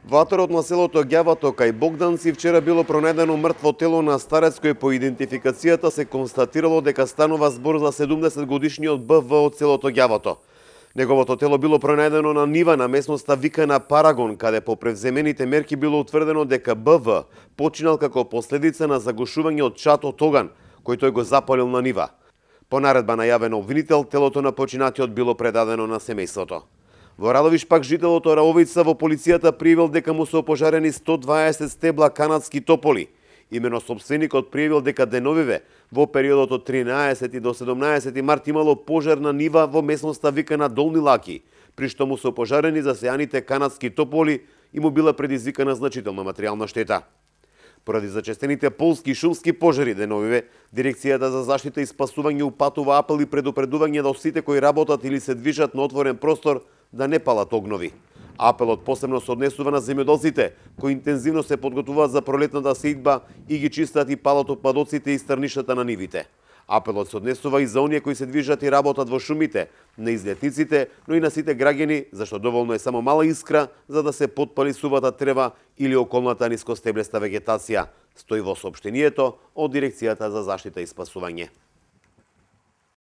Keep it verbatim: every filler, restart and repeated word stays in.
Во аторот на селото Ѓавато кај Богданци вчера било пронајдено мртво тело на старец кој по идентификацијата се констатирало дека станува збор за седумдесет годишниот Б В од селото Ѓавато. Неговото тело било пронајдено на нива на местноста викана Парагон, каде по превземените мерки било утврдено дека Б В починал како последица на загушување од чад од оган, кој тој го запалил на нива. По наредба на јавен обвинител, телото на починатиот било предадено на семејството. Во Радовиш пак жителот Раовица во полицијата пријавил дека му се опожарени сто дваесет стебла канадски тополи. Имено сопственикот пријавил дека деновиве во периодот од тринаесети до седумнаесети март имало пожар на нива во местноста викана Долни Лаки, при што му се опожарени засејаните канадски тополи и му била предизвикана значителна материјална штета. Поради зачестените полски и шумски пожари деновиве, Дирекцијата за заштита и спасување упатува апел и предупредување до сите кои работат или се движат на отворен простор да не палат огнови. Апелот посебно се однесува на земјоделците, кои интензивно се подготвуваат за пролетната сејдба и ги чистат и палат отпадоците и стрнишата на нивите. Апелот се однесува и за оние кои се движат и работат во шумите, на излетниците, но и на сите граѓани, зашто доволно е само мала искра за да се потпали сувата трева или околната нискостеблеста вегетација, стои во соопштенијето од Дирекцијата за заштита и спасување.